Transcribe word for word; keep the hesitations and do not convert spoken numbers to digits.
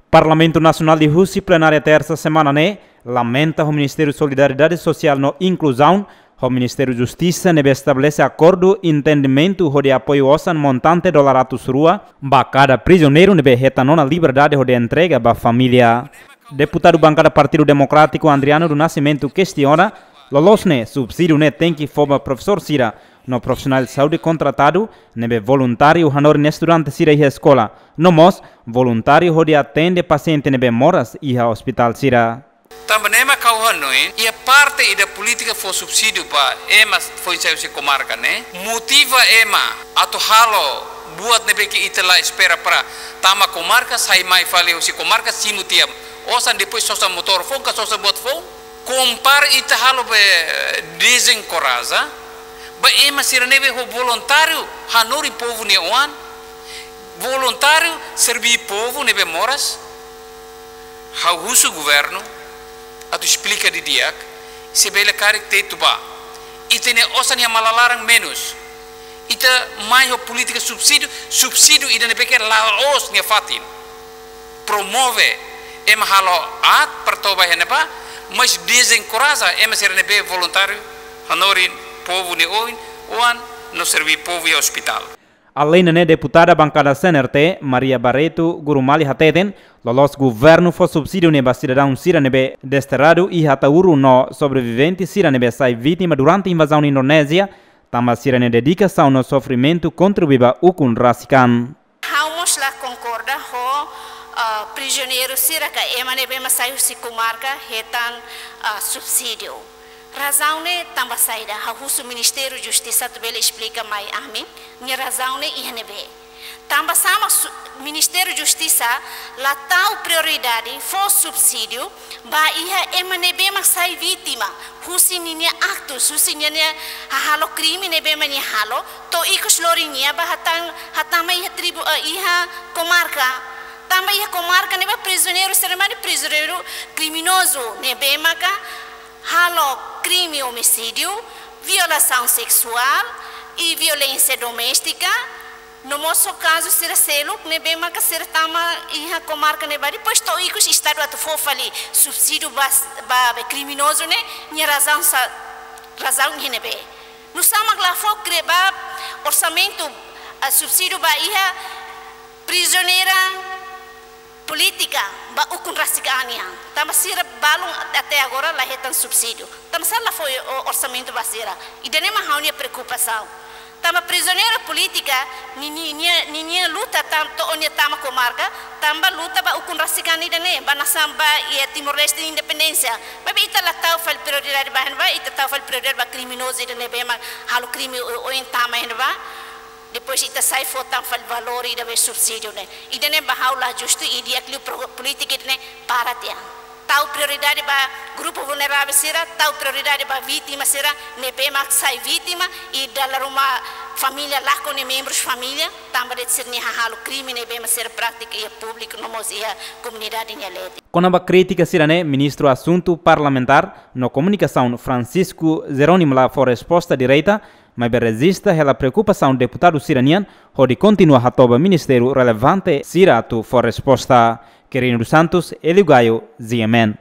Parlamentu Nasionál husi plenária tersa semana ne'e lamenta ho Ministériu Solidariedade Sosiál no Inkluzaun ho Ministériu Justisa ne'ebé estabelese akordu entendimentu hodi apoiu osan montante dolar atus rua ba kada prizioneiru ne'ebé hetan ona liberdade hodi entrega ba família. Deputadu bankada Partidu Demokrátiku Andriano do Nascimento kestiona, loloos ne'e subsídiu ne'e tenke fó ba profesór sira no profisionál saúde kontratadu ne'ebé voluntáriu hanorin estudante sira iha eskola, no mós voluntáriu hodi atende pasiente ne'ebé moras iha ospitál sira. Tanba ne'e mak ha'u hanoin, iha parte ida polítika fó subsídiu ba ema foin sai husi komarka ne'e, motiva ema atu halo buat ne'ebé ke ita la espera para tama komarka, sai mai fali husi komarka, simu tiha osan, depois sosa motór foun ka sosa buat foun. Kompara ita halo be dezenkoraja ba ema sira ne'ebé ho voluntáriu hanorin povu nia oan, voluntáriu serví povu ne'ebé moras. Ha'u husu governu atu esplika didi'ak, se bele karik tetu ba. Ita-nia osan iha malalaran menus. Ita mai ho polítika subsídiu, subsídiu ida ne'ebé ke la'ós nia fatin. Promove ema halo aat para toba iha ne'ebá, mas dezenkoraja ema sira ne'ebé voluntáriu hanorin povu nia oin, oan no serví povu iha ospitál. Além ne'e, deputada bankada C N R T, Maria Barreto Gurumali hateten, loloos governu fó subsídiu ne'e ba sidadaun sira ne'ebé desterradu iha Ataúro no sobrevivente sira ne'ebé sai vítima durante invazaun Indonézia, tanba sira-nia dedikasaun no sofrimentu kontribui ba ukun rasik an. Ha'u mós la konkorda ho, ah, prizioneiru sira ka ema ne'ebé mak sai husi komarka hetan, ah, subsídiu. Razaun ne'e tanba saida? Ha'u husu Ministériu Justisa atu bele esplika mai ami, nia razaun ne'e iha ne'ebé. Tanba sá mak su-, Ministériu Justisa la tau prioridade fó subsídiu ba iha ema ne'ebé mak sai vítima husi ninia aktus, husi ninia hahalo krime ne'ebé mak nia halo, to'o ikus lori nia ba hatán, hatama iha tribu, eh, iha komarka. Tanba iha komarka ne'ebá prizioneiru sira mak ne'e prizioneiru kriminozu ne'ebé maka halo krime omisídiu, violasaun seksuál i violénsia doméstika, no mós ho kazu sira seluk ne'ebé maka sira tama iha komarka ne'ebá. Depois to'o ikus Estadu atu fó fali subsídiu ba, ba, ba kriminozu ne'e, nia razaun sá, razaun iha ne'ebé. Nusá mak la fó kre ba orsamentu, ah, subsídiu ba iha prizioneira polítika ba ukun rasik an nian. Tanba sira balun até agora la hetan subsídiu. Tanba sá la fó o-, orsamentu ba sira? Ida-ne'e mak ha'u-nia preokupasaun. Tanba prizioneira polítika, ni-, ni-, nia, ni-, nia luta tan to'o nia tama komarka, tanba luta ba ukun rasik an ida-ne'e, ba nasaun ba iha Timor-Leste independénsia. Maibé ita la tau fali prioridade ba iha ne'ebá, ita tau fali prioridade ba kriminozu ida ne'ebé mak halo krime o-, oin tama iha ne'ebá. Depois ita sai fó tan fali valór ida be subsídiu ne'e. Ida-ne'e ba ha'u la justu i di'ak liu pro-, polítika ida-ne'e para tiha. Tau prioridade ba grupu vulneravel sira, tau prioridade ba vítima sira ne'ebé mak sai vítima i dala ruma família lakon nia membrus família, tanba de'it sira-nia hahalo krime ne'ebé mak sira pratika iha públiku no mós iha komunidade nia leet. Kona-ba krítika sira-ne'e, Ministru Asuntu Parlamentár no Komunikasaun Francisco Jerónimo la fó resposta direta, maibé rejista hela preokupasaun deputadu sira-nian hodi kontinua hato'o ba ministériu relevante sira atu fó resposta. Quirino dos Santos, Hélio Gaio, G M N.